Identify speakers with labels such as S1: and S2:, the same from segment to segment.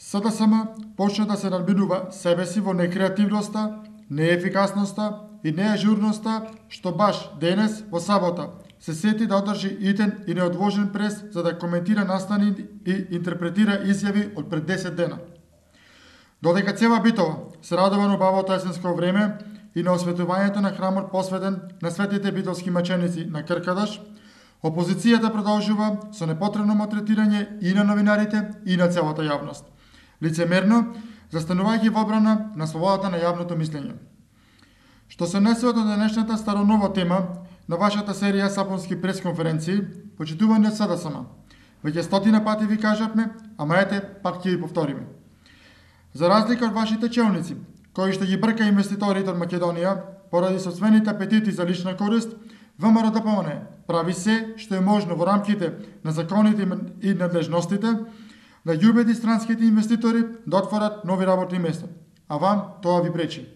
S1: СДСМ почна да се надминува себе си во некреативноста, неефикасноста и неажурноста, што баш денес, во сабота, се сети да одржи итен и неодложен прес за да коментира настани и интерпретира изјави од пред 10 дена. Додека Цева Битова се радува на убавото есенско време и на осветувањето на храмот посветен на светите битовски маченици на Кркадаш, опозицијата продолжува со непотребно малтретирање и на новинарите и на целата јавност, лицемерно застанувајќи во одбрана на слободата на јавното мислење. Што се однесува до денешната старонова тема на вашата серија сапунски пресконференции, почитувани од СДСМ, веќе стотина пати ви кажавме, ама ете, пак ќе ви повториме. За разлика од вашите челници, кои што ги брка инвеститорите од Македонија поради собствените апетити за лична корист, ВМРО-ДПМН прави се што е можно во рамките на законите и надлежностите да ги убеди странските инвеститори да отворат нови работни места, а вам тоа ви пречи.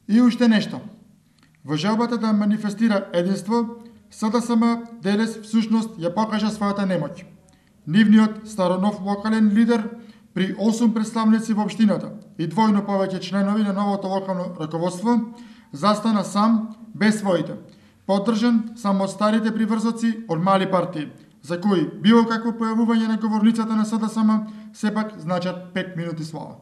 S1: И уште нешто. Во желбата да манифестира единство, СДСМ денес всушност ја покажа својата немоќ. Нивниот старонов локален лидер при 8 представници во општината и двојно повеќе членови на новото локално раководство застана сам без своите, поддржан само од старите приврзоци од мали партии, за кои било какво појавување на говорницата на СДСМ сепак значат 5 минути слава.